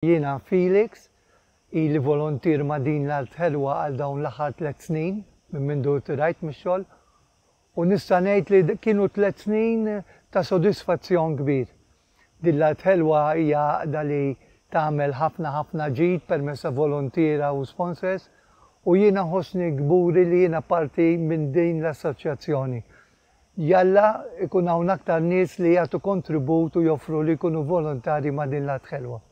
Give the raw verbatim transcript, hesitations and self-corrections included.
Jiena Felix, ili volontier ma' Din l-Art Ħelwa għal dawn l-aħħar tliet snin minn mindu rtirajt mix-xogħol u nista' ngħid li kienu tliet snin ta' sodisfazzjon kbir. Din l-Art Ħelwa hija għaqda li tagħmel ħafna ħafna ġid permezz ta' volontiera u sponsors u jiena nħossni kburi li jiena parti minn din l-assoċjazzjoni. Jalla ikun hawn aktar nies li jagħtu kontribut u joffru li jkunu volontari ma' Din l-Art Ħelwa.